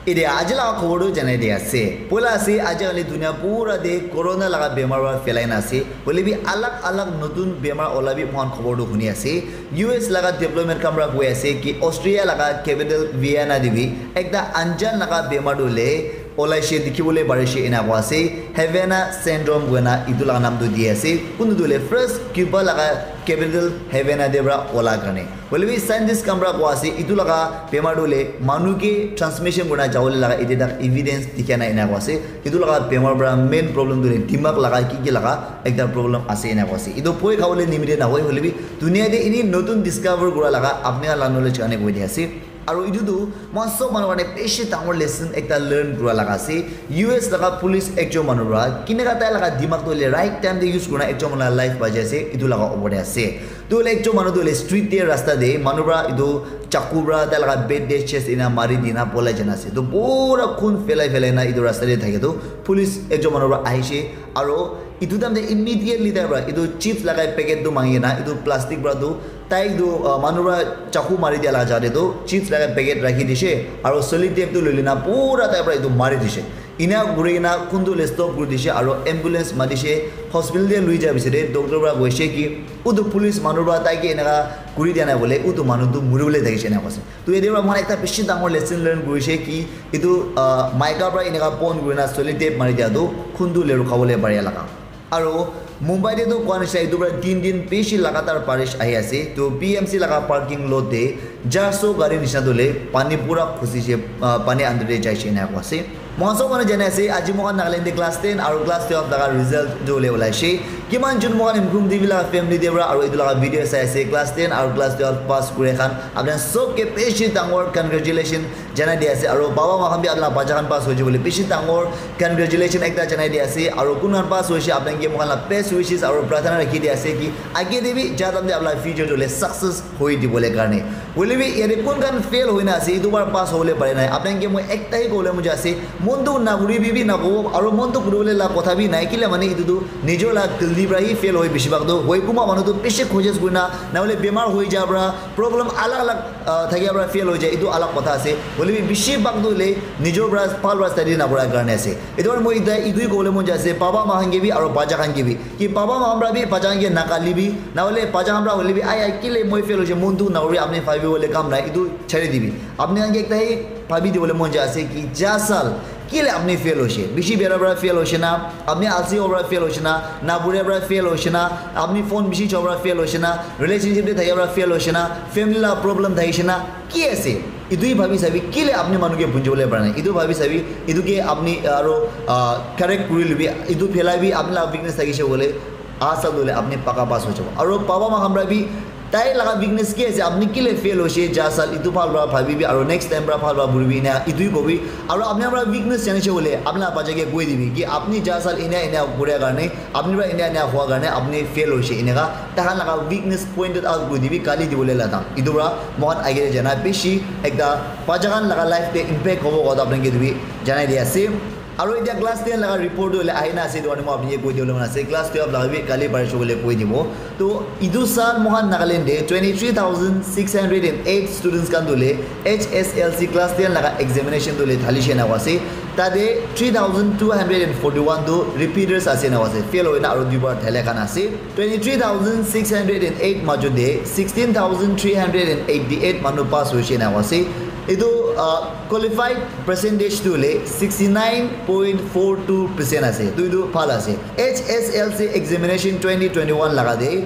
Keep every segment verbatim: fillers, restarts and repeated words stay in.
Ede aji laga khobor tu janai di ase. Poila ase, aji kali dunia pura de corona laga bemar para phelai na ase. Hoile bi alag alag notun bemar ola bi moikhan khobor tu huni ase. U S laga diplomat khan para koi ase ki Austria laga capital Vienna de bi ekta anjan laga bemar tu le olaishe dikhibole parishe ena koa ase. Havana syndrome koina etu laga naam tu di ase. Kuntu tu le first Cuba laga capital Havana de para ola karne. Hoile bi scientist khan para koa ase, etu laga bemar tu le manu ke transmission kurina jawole laga ete tak evidence dikha nai ena koa ase. Etu laga bemar para main problem tu le dimag laga ki ki laga ekta problem ase ena koa ase. Etu bhoi khabole nimite nahoi, hoile bi dunia te ini notun discover kura laga apni khan la knowledge karne koi di ase. Aru etu tu moikhan sob manu karne bishi dangor lesson ekta learn kura laga ase. U S laga police ekjon manu para kineka tai laga dimag tu le right time te use kurina ekjon manu la life bachai ase, etu laga opor te ase. Tu hoile ekjon manu tu hoile street te rasta te manu para etu chaku para tai laga bed te chest ena mari dina polai jana ase. Tu pura khun phelai phelai na etu rasta te thake tu police ekjon manu para ahishe, aro etu time te immediately tai para etu chips laga packet tu mangi na etu plastic para tu tai etu, ah, manu para chaku mari dia laga jate tu chips laga packet rakhi dishe aro sellotape tu loi lina pura tai para etu mari dishe. Ena kuri kena kuntu le stop kuri dishe aro ambulance matishe, hospital te lui ja bisare, doctor para koishe ki utu police manu para tai ke eneka kuri dia nai bole, utu manu tu muri bole thakishe ena koise. Tu yate para moikhan ekta bishi dangor lesson learn kurishe ki etu, ah, maika para eneka pon kurina sellotape mari dia tu kuntu le rukha bole paria laga. Aro Mumbai te tu koa nishina etu para tin din bishi lagatar barish ahi ase. Tu P M C laga parking lot te jarso gari nishina tu le pani pura khusishe, ah, pani under te jaishe ena koa ase. Moikhan sob manu jani ase, aji moikhan Nagaland te class ten aro class twelve laga result tu le olaishe. Kiman jun moikhan Imkhrung T V laga family te para aro etu laga video sai ase, class ten aro class twelve pass kure khan, apni khan sob ke bishi dangor congratulation janai di ase. Aro baba ma khan bi apni laga bacha khan pass hoise bole bishi dangor congratulation ekta janai di ase. Aro kun khan pass hoise, apni khan ke moikhan la best wishes aro prarthana rakhi di ase ki age te bi ja time te apni la future tu le success hoi dibole karne. Hoile bi yate kun khan fail hoina ase, etu bar pass hobole pare nai. Apni khan ke moi ekta hi kobole mon jai ase, mon dukh nakuribi bi nakobo, aro mon dukh kuribole la kotha bi nai. Kile mane etu tu nijor la galti para hi fail hoi bishi bhag tu. Hoi kunba manu tu bishi courses kurina, nahole bemar hoi ja para, problem alag alag, ah, thakia para fail hoi jai, etu alag kotha ase. Hoile bi bishi bhag tu hoile nijor para bhal para study nakura karne ase. Etu karne moi ekta etu hi kobole mon jai ase, baba ma khan ke bi aro bacha khan ke bi. Ki baba ma khan para bi bacha khan ke nakalibi, nahole bacha khan para hoile bi, "Ai, ai, kile moi fail hoise, mon dukh nakuribi, apni bhabi bole kam nai, etu chari dibi." Apni khan ke ekta hi bhabi dibole mon jai ase ki ja sal kile apni fail hoise, bishi bera para fail hoise na, apni alsi howa para fail hoise na, na pura para fail hoise na, apni phone bishi chowa para fail hoise na, relationship te thakia para fail hoise na, family la problem thakise na, ki ase? Etu hi bhabi sabi, kile apni manu ke bunjibole para nai. Etu bhabi sabi, etu ke apni, ah, aro, ah, correct kuri lubi, etu phelai bi apni la weakness thakise bole, aha sal tu le apni paka pass hoi jabo. Aro baba ma khan para bi, tai laga weakness ki ase, apni kile fail hoise, ja sal etu bhal para bhabibi, aro next time para bhal para puribi, ena etu hi kobi. Aro apni para weakness janise bole, apni la bacha ke koi dibi, ki apni ja sal ena ena kuria karne, apni para ena ena hua karne, apni fail hoise, eneka. Takhan laga weakness pointed out kuri dibi, kali dibole la dam. Etu para moikhan age te jana bishi ekta bacha khan laga life te impact hobo kotha apni ke etu bi janai di ase. Aro etia class ten laga report tu hoile ahina ase, etu karne moi apni ke koi dibole mon ase. Class twelve laga bi kali parish hoile koi dibo. To etu sal moikhan Nagaland te twenty three thousand six hundred and eight students khan tu hoile H S L C class ten laga examination tu hoile thalishe na ase. Tate three thousand two hundred and forty one tu repeaters ase na ase, fail hoina aro duibar thaile khan ase. Twenty three thousand six hundred and eight majo te sixteen thousand three hundred and eighty eight manu pass hoise na ase. Etu, ah, qualified percentage tu hoile sixty nine point four two percent ase. Tu etu bhal ase. H S L C examination twenty twenty one laga te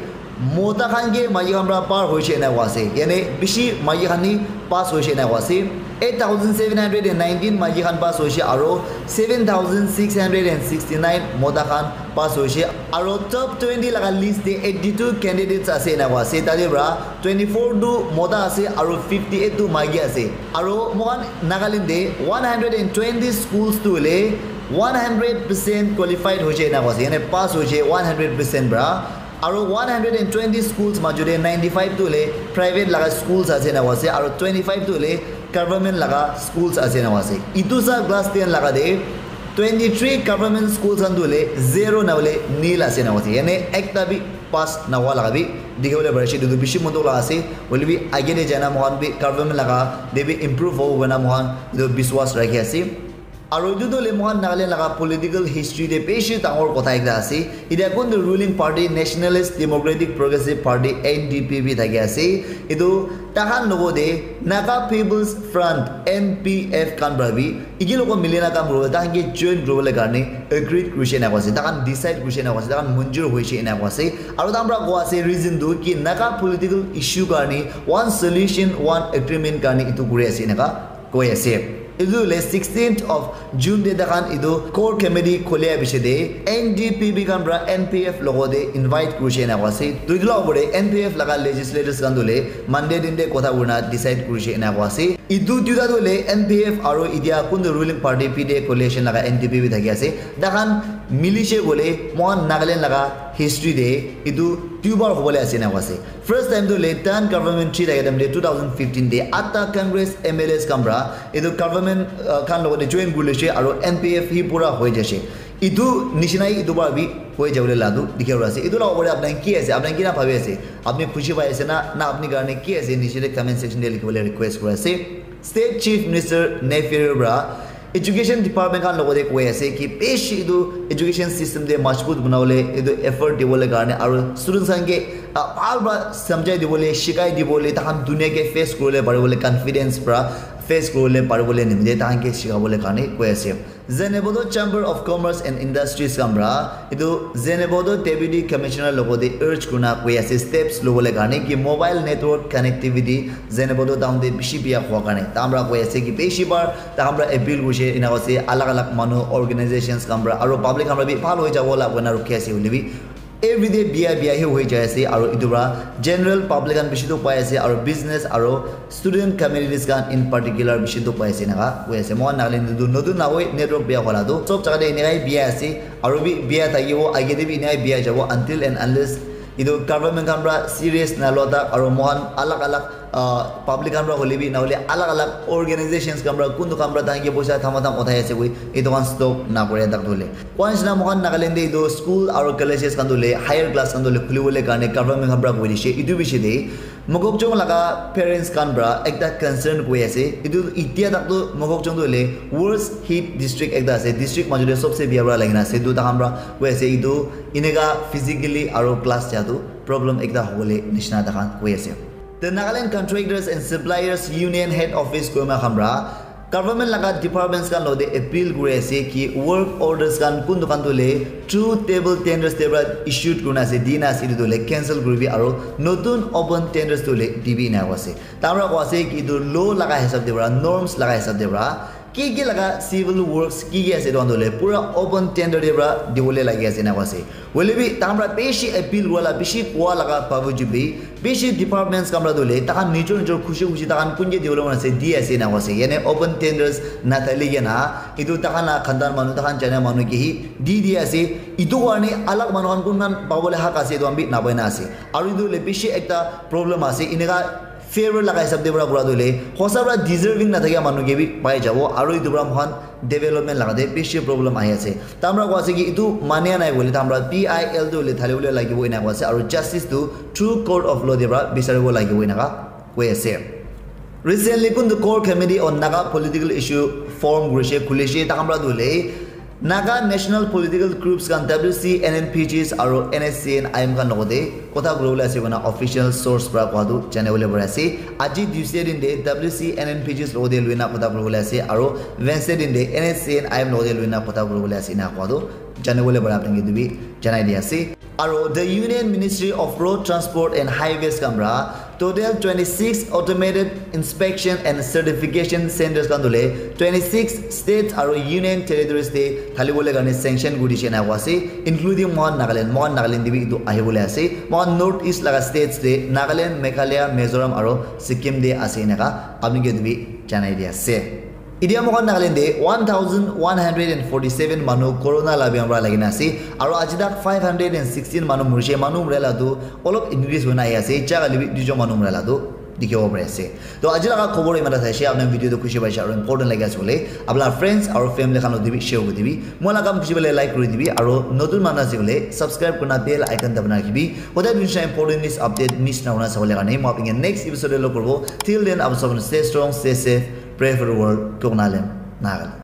mota khan ke maiki khan para par hoise na koa ase. Yane bishi maiki khan hi pass hoise na koa ase. Eight thousand seven hundred and nineteen maiki khan pass hoise aro seven thousand six hundred and sixty nine mota khan pass hoise. Aro top twenty laga list te eighty two candidates ase na koa ase. Tate para twenty four tu mota ase aro fifty eight tu maiki ase. Aro moikhan Nagaland te one hundred and twenty schools tu hoile one hundred percent qualified hoise na koa ase. Yane pass hoise one hundred percent para. Aro one hundred and twenty schools majo te ninety five tu hoile private laga schools ase na ase, aro twenty five tu hoile government laga schools ase na ase. Etu sa class ten laga te twenty three government schools khan tu hoile zero na hoile nil ase na ase. Yane ekta bi pass na hua laga bi Dikhi bole pari ase, etu tu bishi mon dukh la ase. Hoile bi age te jai na moikhan bi government laga te bi improve hobo koina moikhan etu biswas rakhi ase. Aru etu tu hoile moikhan Nagaland laga political history te bishi dangor kotha ekta ase. Etia kun tu ruling party Nationalist Democratic Progressive Party, N D P P, thaki ase. Etu tahan logo te Naga People's Front, N P F, khan para bi iki logo mili na kam kuribo, tahan ke join kuribole karne agreed kurishe ena koise, tahan decide kurishe ena koise, tahan manjur hoishe ena koise. Aru tahan para koa ase reason tu ki Naga political issue karne one solution, one agreement karne etu kuri ase enaka koi ase. Etu le sixteenth of June te tahan etu core committee kholia piche te N D P P khan para N P F logo te invite kurishe ena koa ase. Tu etu la opor te N P F laga legislators khan tu le Monday din te kotha kurina decide kurishe ena koa ase. Etu duita tu hoile N P F aru etia kuntu ruling party P D A coalition laga N D P P thaki ase. Tahan milishe koile moikhan Nagaland laga history te etu duibar hobole ase ena koa ase. First time tu hoile turn government three thaki time te two thousand fifteen te atta Congress M L As khan para etu government, uh, khan logote join kuri loise aru N P F hi pura hoi jaise. Etu nishina hi etu para bi hoi jabole la tu dikhi ase. Etu la opor te apni khan ki ase, apni khan kina bhabi ase, apni khushi pai ase na, na apni karne ki ase, niche te comment section te likhi bole request kuri ase. State Chief Minister Neiphiu Rio para education department khan logote koi ase ki bishi etu education system te majbut banabole etu effort dibole karne aru students khan ke, ah, bhal para samjhai dibole, shikai dibole, tahan dunia ke face kuribole paribole, confidence para face kuribole paribole nimite tahan ke shikabole karne koi ase. Zhengzhou Chamber of Commerce and Industries khan para etu Zhengzhou Deputy Commissioner logote urge kurina koi ase steps lobole karne ki mobile network connectivity Zhengzhou town te bishi biya hua karne tahan para koi ase ki bishi bar tahan para appeal kurishe ena koise alag alag manu organizations khan para aru public khan para bi bhal hoi jabo la koina rukhi ase hoile bi everyday biya biya hi hoi jai ase, aru etu para general public khan bishi dukh pai ase, aru business aru student communities khan in particular bishi dukh pai ase enaka koi ase. Moikhan Nagaland te tu notun nahoi network biya hola tu sob jaga te enaka hi biya ase, aru bi biya thakibo, age te bi enaka hi biya jabo until and unless etu government khan para serious nalua tak aru moikhan alag alag, ah, public khan para hoile bi nahole alag alag organizations khan para kuntu khan para tahan ke poisa thama tham uthai ase koi etu khan stop nakore tak tu hoile. Koi nishina moikhan Nagaland te etu school aru colleges khan tu hoile higher class khan tu hoile khulibole karne government khan para koi dishe. Etu bishi te Mokokchung laga parents khan para ekta concern koi ase. Etu etia tak tu Mokokchung tu hoile worst hit district ekta ase. District majot te sobse biya para lagi na ase. Etu tahan para koi ase etu eneka physically aru class ja tu problem ekta hobole nishina tahan koi ase. The Nagaland Contractors and Suppliers Union Head Office Kohima khan para government laga departments khan logote appeal kuri ase ki work orders khan kuntu khan tu hoile through table tenders te para issued kurina ase, dina ase, etu tu hoile cancel kuribi aru notun open tenders tu hoile dibi ena koi ase. Tahan para koi ase ki etu law laga hisab te para, norms laga hisab te para ki ki laga civil works ki ki ase etu khan tu hoile pura open tender te para dibole lagi ase ena koi ase. Hoile bi tahan para bishi appeal kura la, bishi koa laga bawjud bi bishi departments khan para tu hoile tahan nijor nijor khushi khushi tahan kun ke dibole mon ase di ase ena koi ase. Yane open tenders nathali kena etu tahan la khandan manu, tahan jana manu ke hi di di ase. Etu karne alag manu khan kun khan pabole hak ase etu khan bi napai na ase. Aru etu hoile bishi ekta problem ase. Eneka favor laga hisab te para kura tu hoile hosa para deserving nathakia manu ke bi pai jabo aru etu para moikhan development laga te bishi problem ahi ase. Tahan para koi ase ki etu mania nai koile tahan para P I L tu hoile thali bole lagibo ena koi ase aru justice tu through court of law te para bisaribo lagibo enaka koi ase. Recently kuntu core committee on Naga political issue form kurishe, khulishe, tahan para tu hoile Naga national political groups khan W C N N P Gs aru N S C N I M khan logote kotha kuribole ase koina official source para koa tu janibole pari ase. Aji Tuesday din te W C N N P Gs logote loina kotha kuribole ase aru Wednesday din te N S C N I M logote loina kotha kuribole ase ena koa tu janibole pari apni ke etu bi janai di ase. Aru the Union Ministry of Road Transport and Highways khan para total twenty six automated inspection and certification centers khan tu hoile twenty six states aru union territories te thali bole karne sanction kuri dishe ena koi ase, including moikhan Nagaland. Moikhan Nagaland te bi etu ahi bole ase. Moikhan North East laga states te Nagaland, Meghalaya, Mizoram aru Sikkim te ase enaka apni ke etu bi janai di ase. Etia moikhan Nagaland te one thousand one hundred and forty seven manu corona la biamar para lagi na ase aru aji tak five hundred and sixteen manu murishe. Manu mura la tu olop increase hoi na ahi ase, jaga le bi duijon manu mura la tu dikhibo pari ase. To aji laga khobor imata thaise, apni video to khushi paise aru important lagi ase bole apna friends aru family khan loti bi share kuri dibi. Moi laga kam khushi bole like kuri dibi aru notun manu ase bole subscribe kurna bell icon dabana rakhibi. Hodai dunisa important news update miss na hona sabole karne moi apni next episode te log koribo. Till then, apni sabon stay strong, stay safe, pray for the world. Kokna lem nagal.